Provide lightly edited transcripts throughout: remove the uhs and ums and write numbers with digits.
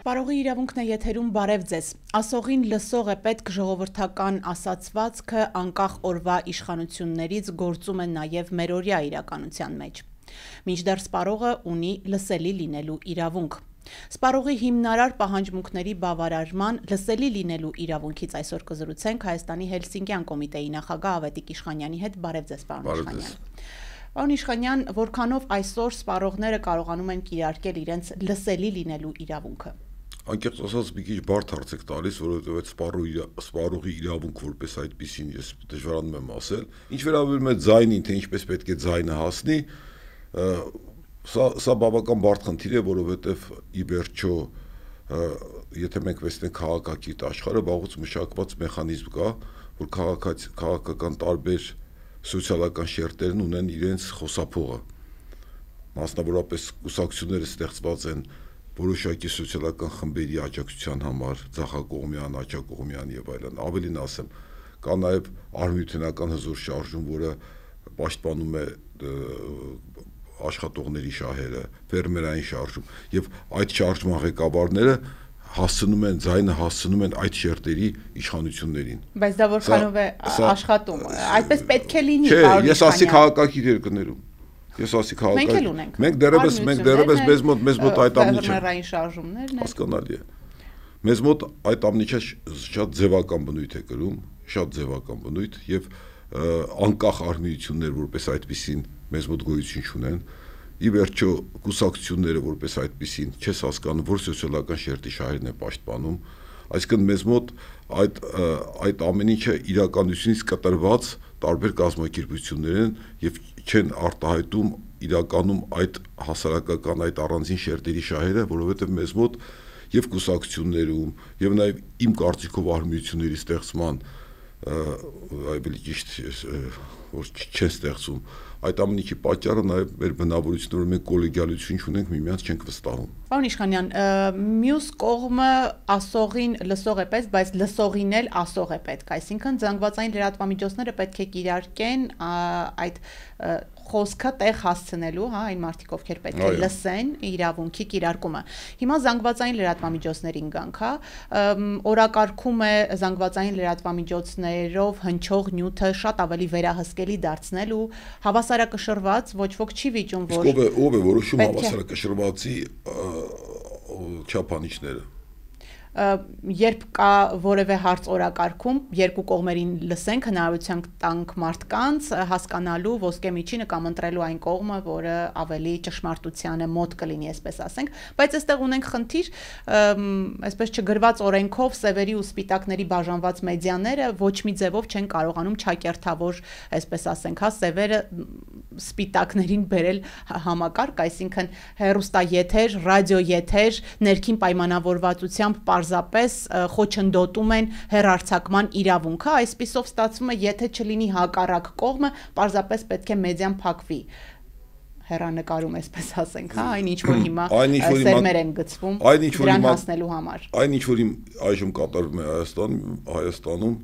Սպարողի իրավունքն է եթերում, բարև ձեզ։ Ասողին լսող է պետք ժողովրդական ասացվածքը անկախ օրվա իշխանություններից գործում է նաև մերօրյա իրականության մեջ։ Մինչդեռ սպարողը ունի լսելի լինելու իրավունք։ Սպարողի հիմնարար պահանջմունքների բավարարման լսելի լինելու իրավունքից այսօր կզրուցենք Հայաստանի Հելսինկյան կոմիտեի նախագահ Ավետիք Իշխանյանի հետ։ Բարև ձեզ, պարոն Իշխանյան։ Պարոն Իշխանյան, որքանով այսօր սպարողները կարողանում են կիրարկել իրենց լսելի լինելու իրավունքը։ Անկեղծ ասած մի քիչ բարդ հարց եք տալիս, որովհետև այդ սպարողի իրավունք որպես այդպեսին ես դժվարանում եմ ասել։ Ինչ վերաբերում է ձայնին, թե ինչպես պետք է ձայնը հասնի, սա բավական բարդ խնդիր է, որովհետև ի վերջո, եթե մենք վերցնենք քաղաքակիրթ աշխարհը, վաղուց մշակված մեխանիզմ կա, որ քաղաքական տարբեր սոցիալական շերտերն ունեն իրենց խոսափողը։ Մասնավորապես կուսակցությունները ստեղծված են որոշակի սոցիալական խմբերի աջակցության համար, ձախակողմյան, աջակողմյան եւ այլն։ Ավելին ասեմ, կա նաեւ արհմիութենական հզոր շարժում, որը պաշտպանում է աշխատողների շահերը, ֆերմերային շարժում, եւ այդ շարժման ղեկավարները ձայնը հասցնում են այդ շերտերի իշխանություններին։ Բայց դա որքանով է աշխատում, այդպես պետք է լինի, պարոն Իշխանյան։ Ես ասի քաղաքակիրթ երկրներում։ Ես ասի քաղաքական։ Մենք դեռևս մեզ մոտ այդ ամնիչը ֆերմերային շարժումներն են։ Հասկանալի է։ Մեզ մոտ այդ ամնիչը շատ ձևական բնույթ է կրում, շատ ձևական բնույթ եւ անկախ արհմիություններ որպես այդպեսին մեզ մոտ գոյություն չունեն։ Ի վերջո կուսակցությունները որպես այդպեսին չես հասկանում, որ սոցիալական շերտի շահերն է պաշտպանում, այսինքն մեզ մոտ այդ ամեն ինչը իրականությունից կտրված տարբեր կազմակերպություններ են եւ չեն արտահայտում իրականում այդ հասարակական այդ առանձին շերտերի շահերը, որովհետեւ մեզ մոտ եւ կուսակցություններում եւ նաեւ իմ կարծիքով արհմիությունների ստեղծման ավելի ճիշտ որ չեն ստեղծում այդ ամենի պատճառը նաև մեր բնավորությունն որ մենք կոլեգիալություն չունենք միմյանց չենք վստահում։ Պարոն Իշխանյան, մյուս կողմը ասողին լսող է պետք, բայց լսողին էլ ասող է պետք, այսինքն զանգվածային լրատվամիջոցները պետք է կիրարկեն այդ խոսքը տեղ հասցնելու, այն մարդիկ ովքեր պետք է լսեն իրավունքի կիրարկումը։ Հիմա զանգվածային լրատվամիջոցներին գանք, օրակարգում է զանգվածային լրատվամիջոցներով հնչող նյութը շատ ավելի վերահսկելի դարձնելու, հավասարակշռված, ոչ ոք չի վիճում, որ ով է որոշում հավասարակշռվածի չափանիշները։ Երբ կա որևէ հարց օրակարգում, երկու կողմերին լսենք, հնարավորություն տանք մարդկանց հասկանալու ոսկե միջինը կամ ընտրելու այն կողմը, որը ավելի ճշմարտությանը մոտ կլինի, այսպես ասենք, բայց այստեղ ունենք խնդիր, այսպես չգրված օրենքով սևերի ու սպիտակների բաժանված մեդիաները ոչ մի ձևով չեն կարողանում չակերտավոր, այսպես ասենք, սևերը սպիտակներին բերել համակարգ, այսինքն հեռուստաեթեր, ռադիոեթեր, ներքին պայմանավորվածությամբ պարզապես խոչընդոտում են հեռարձակման իրավունքը, այսպիսով ստացվում է, եթե չլինի հակառակ կողմը, պարզապես պետք է մեդիան փակվի։ Հեռանկարում, այսպես ասենք, այն ինչ որ հիմա սերմեր են գցվում դրան հասնելու համար։ Այն ինչ որ այժմ կատարվում է Հայաստանում,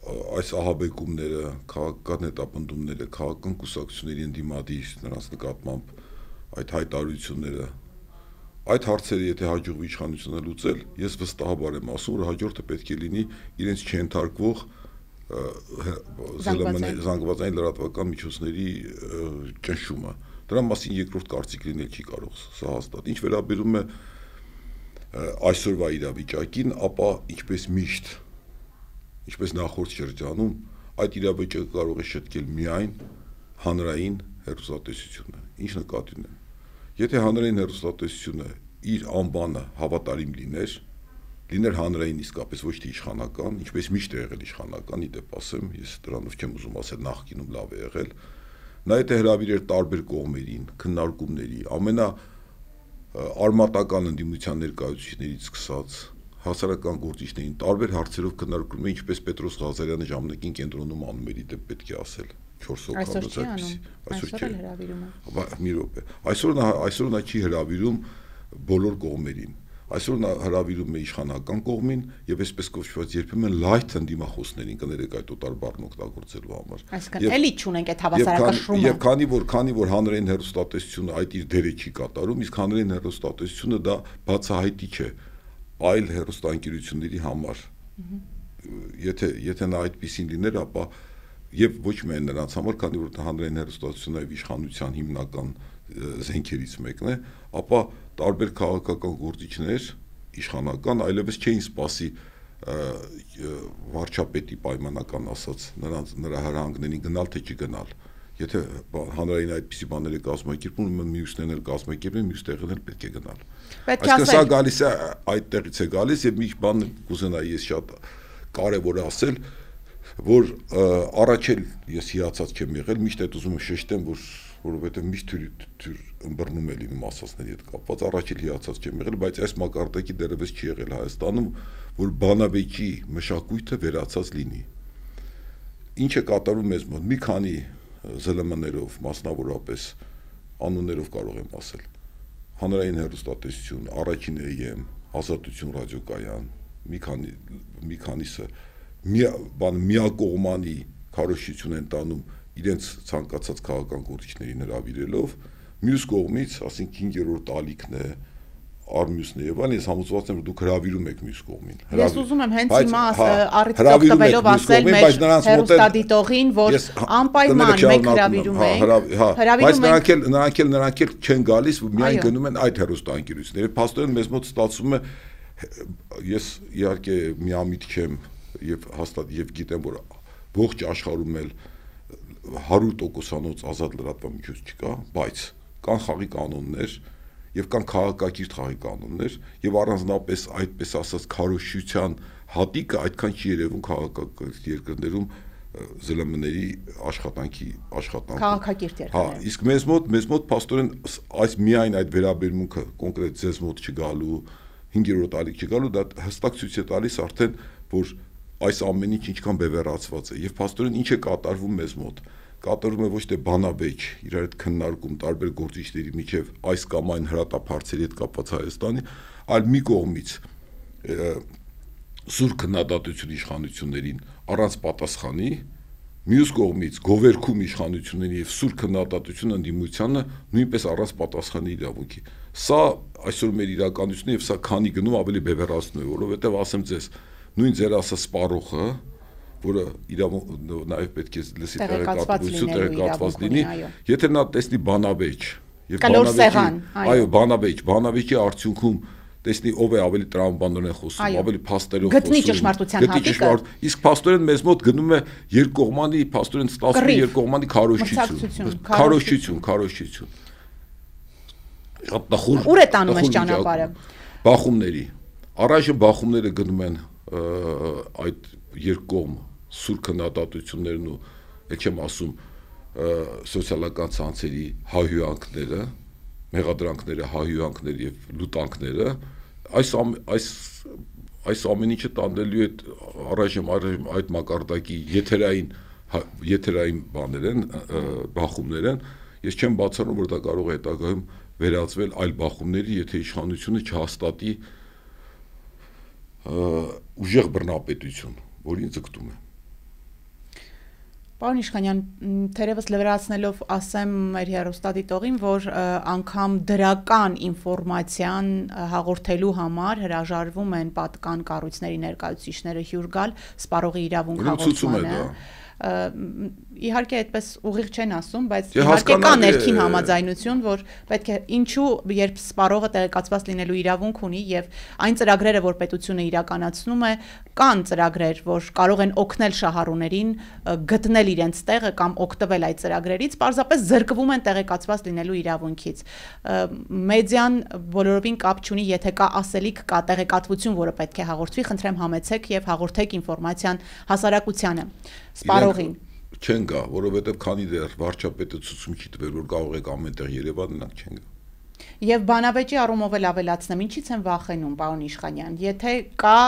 այս ահաբեկումները, քաղաքական հետապնդումները, քաղաքական կուսակցությունների ընդդիմադիր նրանց նկատմամբ այդ հայտարարությունները, այդ հարցերը եթե հաջողվի իշխանությունը լուծել, ես վստահաբար եմ ասում, որ հաջորդը պետք է լինի իրենց չենթարկվող զանգվածային լրատվական միջոցների ճնշումը։ Դրա մասին երկրորդ կարծիք լինել չի կարող, սա հաստատ։ Ինչ վերաբերում է այսօրվա իրավիճակին, ապա ինչպես նախորդ շրջանում, այդ իրավիճակը կարող է շտկել միայն հանրային հեռուստատեսությունը։ Ինչ նկատի ունեմ։ Եթե հանրային հեռուստատեսությունը իր անբանը հավատարիմ լիներ հանրային իսկապես ոչ թե իշխանական, ինչպես միշտ է եղել իշխանական, իդեպ ասեմ, ես դրանով չեմ ուզում ասել նախկինում լավ է եղել, նա եթե հրավիրեր տարբեր կողմերին, քննարկումների, ամենաարմատական ընդդիմության ներկայացուցիչներից սկսած հասարակական գործիչներին տարբեր հարցերով քննարկում են, ինչպես Պետրոս Ղազարյանը ժամանակին կենտրոնում անում էր, իդեպ պետք է ասել 4 հոգի, այսօր էլ հրավիրում է։ Մի րոպե։ Այսօր նա չի հրավիրում բոլոր կողմերին։ այսօր նա հրավիրում է իշխանական կողմին եւ այսպես կոչված երբեմն լայթ ընդդիմախոսներին կներեք այդ օտար բառն օգտագործելու համար։ Այսինքն էլի չունենք այդ հավասարակշռումը։ Եվ քանի որ հանրային հեռուստատեսությունը այդ իր դերը չի կատարում, իսկ հանրային հեռուստատեսությունը դա բացահայտիչ է այլ հեռուստաընկերությունների համար։ Եթե նա այդպեսին լիներ, ապա եւ ոչ միայն նրանց համար, քանի որ հանրային հեռուստատեսությունը եւ իշխանության հիմնական զենքերից մեկն է, ապա տարբեր քաղաքական գործիչներ իշխանական այլևս չէին սպասի վարչապետի պայմանական ասած նրա հրահանգներին գնալ թե չգնալ։ Եթե հանրային այդպիսի բաներ է կազմակերպում, մյուսներն էլ կազմակերպեն, մյուս տեղերն էլ պետք է գնալ։ Այսինքն սա գալիս է այդտեղից է գալիս եւ մի բան կուզենայի ես շատ կարեւոր է ասել, որ առաջ էլ ես հիացած չեմ եղել, միշտ այդ ուզում եմ շեշտեմ, որովհետեւ միշտ թյուր ըմբռնում է լինում ասածների հետ կապված, առաջ էլ հիացած չեմ եղել, բայց այս մակարդակի դեռևս չի եղել Հայաստանում, որ բանավեճի մշակույթը վերացած լինի։ Ինչ է կատարում մեզ մոտ, մի քանի ԶԼՄ-ներով, մասնավորապես անուններով կարող եմ ասել, հանրային հեռուստատեսություն, առաջին AM, Ազատություն ռադիոկայան, մի քանիսը միակողմանի քարոզչություն են տանում իրենց ցանկացած քաղաքական գործիչներին հրավիրելով, մյուս կողմից, ասենք 5-րդ ալիքն է, Արմյուսն է եւ այլն, ես համոզված եմ, որ դուք հրավիրում եք մյուս կողմին։ Ես ուզում եմ հենց հիմա առիթից օգտվելով ասել մեր հեռուստադիտողին, որ անպայման մենք հրավիրում ենք, նրանք էլ չեն գալիս, միայն գնում են այդ հեռուստաընկերությունները։ Փաստորեն մեզ մոտ ստացվում է, ես իհարկե միամիտ չեմ եւ հաստատ եւ գիտեմ, որ ողջ աշխարհում էլ 100%-անոց ազատ լրատվամիջոց չկա, բայց կան խաղի կանոններ եւ կան քաղաքակիրթ խաղի կանոններ եւ առանձնապես այդպես ասած քարոզչության հատիկը այդքան չի երևում քաղաքակիրթ երկրներում ԶԼՄ-ների աշխատանքի քաղաքակիրթ երկրներում։ Իսկ մեզ մոտ փաստորեն այս միայն այդ վերաբերմունքը կոնկրետ ձեզ մոտ չգալու 5-րդ ալիք չգալու դա հստակ ցույց է տալիս արդեն որ այս ամեն ինչ ինչքան բևեռացված է եւ փաստորեն ինչ է կատարվում մեզ մոտ կատարվում է ոչ թե բանավեճ իրար հետ քննարկում տարբեր գործիչների միջև այս կամ այն հրատապարծերի հետ կապված Հայաստանի, այլ մի կողմից սուր քննադատություն իշխանություններին առանց պատասխանի, մյուս կողմից գովերքում իշխանությունների եւ սուր քննադատություն ընդդիմությանը նույնպես առանց պատասխանի իրավունքի։ Սա այսօր մեր իրականությունն է եւ սա քանի գնում ավելի բևեռացնում է, որովհետեւ ասեմ ձեզ, նույն ձեր ասած սպառողը որը նաև պետք է լսի տեղեկատվություն լինի, եթե նա տեսնի բանավեճ եւ բանավեճի արդյունքում տեսնի ով է ավելի տրամաբանորեն խոսում, ավելի փաստերով խոսում, գտնի ճշմարտության հատիկը, իսկ փաստորեն մեզ մոտ գնում է երկկողմանի, փաստորեն ստացվում է երկկողմանի քարոզչություն։ Ուր է տանում այս ճանապարհը։ Բախումների։ Առայժմ բախումները գնում են այդ երկկողմ սուր քննադատություններն ու ել չեմ ասում սոցիալական ցանցերի հայհոյանքները, մեղադրանքները, հայհոյանքները եւ լուտանքները այս ամեն ինչը տանելու է առայժմ այդ մակարդակի եթերային բաներ են, բախումներ են, ես չեմ բացառում, որ դա կարող է հետագայում վերածվել այլ բախումների, եթե իշխանությունը չհաստատի ուժեղ բռնապետություն, որին ձգտում է։ Պարոն Իշխանյան, թերևս լրացնելով ասեմ մեր հեռուստադիտողին, որ անգամ դրական ինֆորմացիան հաղորդելու համար հրաժարվում են պատկան կառույցների ներկայացուցիչները հյուր գալ սպառողի իրավունք հաղորդմանը։ Իհարկե այդպես ուղիղ չեն ասում, բայց իհարկե կա ներքին համաձայնություն, որ պետք է ինչու երբ սպառողը տեղեկացված լինելու իրավունք ունի եւ այն ծրագրերը, որ պետությունը իրականացնում է, կան ծրագրեր, որ կարող են օգնել շահառուներին գտնել իրենց տեղը կամ օգտվել այդ ծրագրերից, պարզապես զրկվում են տեղեկացված լինելու իրավունքից։ Մեդիան բոլորովին կապ չունի, եթե կա ասելիք, կա տեղեկատվություն, որը պետք է հաղորդվի, խնդրեմ համեցեք եւ հաղորդեք ինֆորմացիան հասարակությանը, սպառողին։ Չեն գա, որովհետև քանի դեռ վարչապետը ցուցում չի տվել, որ կարող եք ամենտեղ Երևան նրանք չեն գա։ Եվ բանավեճի առումով էլ ավելացնեմ, ինչից են վախենում, պարոն Իշխանյան, եթե կա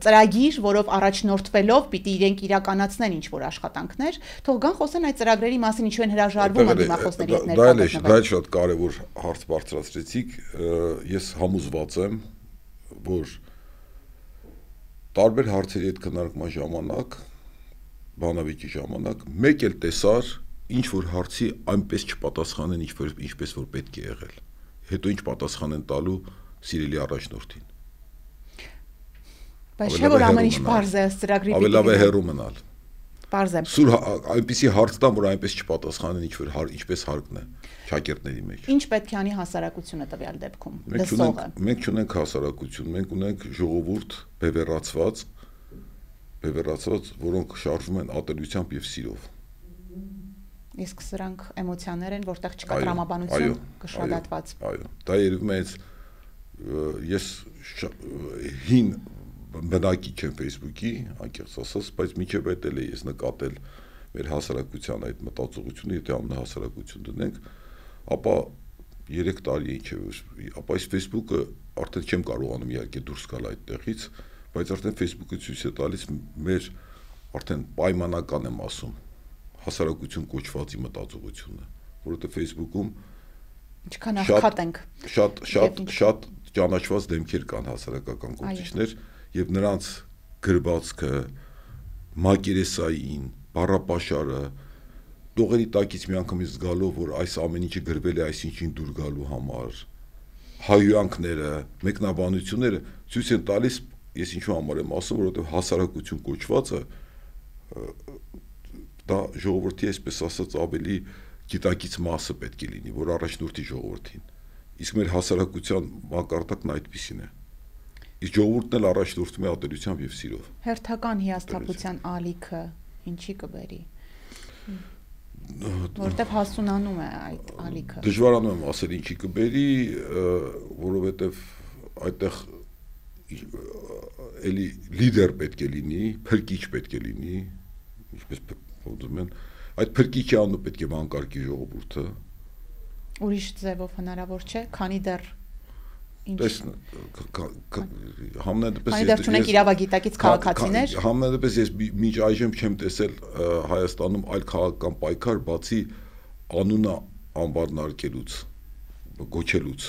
ծրագիր, որով առաջնորդվելով պիտի իրենք իրականացնեն ինչ-որ աշխատանքներ, թող գան խոսեն այդ ծրագրերի մասին, ինչու են հրաժարվում ընդդիմախոսների հետ ներկայացնել։ Դա էլ շատ կարևոր հարց բարձրացրեցիք, ես համոզված եմ, որ տարբեր հարցերի հետ քննարկման ժամանակ, բանավեճի ժամանակ, մեկ էլ տեսար ինչ որ հարցի այնպես չպատասխանեն, ինչպես որ պետք է եղել։ Հետո ինչ պատասխան են տալու սիրելի առաջնորդին։ Բայց չէ՞ որ ամեն ինչ բարձ է ծրագրի ավելի լավ է հեռու մնալ։ Բարձ է։ Սուր այնպեսի հարց տան, որ այնպես չպատասխանեն, ինչպես հարկն է շակերտների մեջ։ Ինչ պետք է անի հասարակությունը տվյալ դեպքում։ Լսողը։ Մենք չունենք հասարակություն, մենք ունենք ժողովուրդ բևեռացված, որոնք շարժվում են ատելությամբ եւ սիրով։ Իսկ սրանք էմոցիաներ են, որտեղ չկա տրամաբանություն կշռադատված։ Այո, դա երևում է ես հին բնակիչ եմ Facebook-ի, անկեղծ ասած, բայց միջև այդ էլ է ես նկատել մեր հասարակության այդ մտածողությունը, եթե ամենահասարակություն դնենք, ապա 3 տարի ինչ է, ապա այս Facebook-ը արդեն չեմ կարողանում իհարկե դուրս գալ այդտեղից, բայց արդեն Facebook-ը ցույց է տալիս մեր արդեն պայմանական եմ ասում հասարակություն կոչվածի մտածողությունը, որովհետև Facebook-ում ինչքան աղքատ ենք շատ ճանաչված դեմքեր կան հասարակական գործիչներ եւ նրանց գրվածքը, մակերեսային, բառապաշարը, տողերի տակից միանգամից զգալով, որ այս ամեն ինչը գրվել է այսինչին դուր գալու համար, հայհոյանքները, մեկնաբանությունները ցույց են տալիս, ես ինչու համար եմ ասում, որովհետև հասարակություն կոչվածը դա ժողովրդի, այսպես ասած, ավելի գիտակից մասը պետք է լինի, որ առաջնորդի ժողովրդին։ Իսկ մեր հասարակության մակարդակն այդպիսին է։ Իսկ ժողովուրդն էլ առաջնորդվում է ատելությամբ եւ սիրով։ Հերթական հիասթափության ալիքը ինչի կբերի։ Որտեվ հասունանում է այդ ալիքը։ Դժվարանում եմ ասել ինչի կբերի, որովհետեւ այդտեղ էլի լիդեր պետք է լինի, փրկիչ պետք է լինի, ինչպես ուզում են, այդ փրկիչի անունը պետք է վանկարկի ժողովուրդը։ Ուրիշ ձևով հնարավոր չէ, քանի դեռ Համենայնդեպս չունենք իրավագիտակից քաղաքացիներ։ Համենայնդեպս ես մինչ այժմ չեմ տեսել Հայաստանում այլ քաղաքական պայքար, բացի անունը անվարն արկելուց, գոչելուց,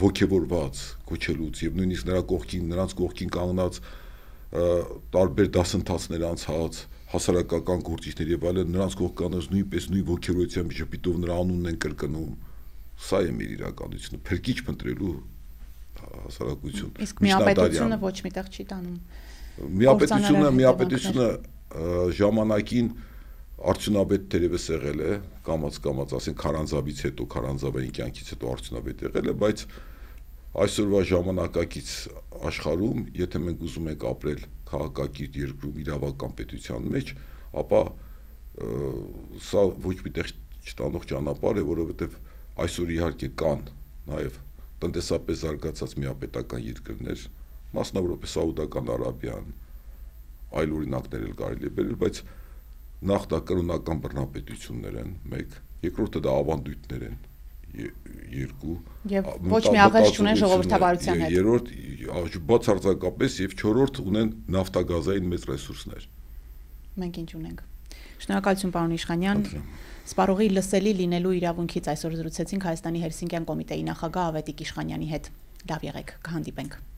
ոգևորված գոչելուց եւ նույնիսկ նրանց կողքին կանգնած տարբեր դասընթացներ անցած հասարակական գործիչներ եւ այլն նրանց կողքանից նույնպես նույն ոգևորությամբ ժպիտով նրա անունն են կրկնում։ Սա է մեր իրականությունը, փրկիչ փնտրելու հասարակություն։ Իսկ միապետությունը ոչ միտեղ չի տանում։ Միապետությունը ժամանակին արդյունավետ թերևս եղել է, կամաց ասենք Քարանձավից հետո, Քարանձավային կյանքից հետո արդյունավետ եղել է, բայց այսօրվա ժամանակակից աշխարհում, եթե մենք ուզում ենք ապրել քաղաքակիրթ երկրում իրավական պետության մեջ, ապա սա ոչ մի տեղ չտանող ճանապարհ է, որովհետև այսօր իհարկե կան նաև տնտեսապես զարգացած միապետական երկրներ, մասնավորապես Սաուդական Արաբիան, այլ օրինակներ էլ կարելի է բերել, բայց նախ դա կրոնական բռնապետություններ են, մեկ, երկրորդը դա ավանդույթներ են, երկու, եւ ոչ մի աղերս չունեն ժողովրդավարության հետ, երրորդ բացարձակապես եւ չորրորդ ունեն նավթագազային մեծ ռեսուրսներ։ Մենք ինչ ունենք։ Շնորհակալություն պարոն Իշխանյան։ Սպառողի լսելի լինելու իրավունքից այսօր զրուցեցինք Հայաստանի Հելսինկյան կոմիտեի նախագահ Ավետիք Իշխանյանի հետ։ Լավ եղեք, կհանդիպենք։